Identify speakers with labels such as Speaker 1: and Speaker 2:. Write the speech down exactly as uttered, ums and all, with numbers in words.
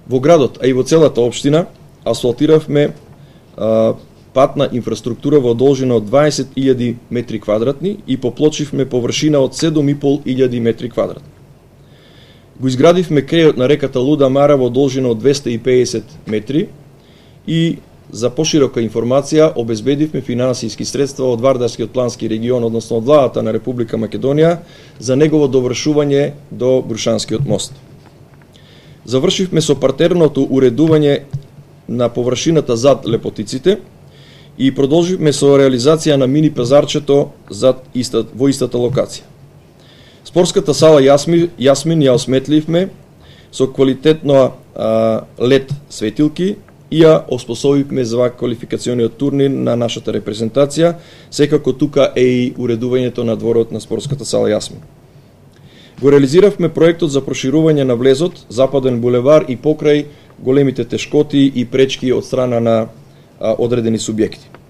Speaker 1: Во градот, а и во целата општина, асфалтиравме а, патна инфраструктура во должина од дваесет илјади метри квадратни и поплочивме површина од седум и пол илјади метри квадратни. Го изградивме крејот на реката Луда Мара во должина од двесте и педесет метри и за поширока информација обезбедивме финансиски средства од Вардарскиот плански регион, односно од владата на Република Македонија, за негово довршување до Брушанскиот мост. Завршивме со партерното уредување на површината зад Лепотиците и продолживме со реализација на мини пазарчето зад иста, во истата локација. Спортската сала Јасмин, Јасмин ја осметливме со квалитетно а, лед светилки и ја оспособивме за квалификациониот турнир на нашата репрезентација, секако тука е и уредувањето на дворот на спортската сала Јасмин. Го реализиравме проектот за проширување на влезот, Западен булевар и покрај големите тешкоти и пречки од страна на а, одредени субјекти.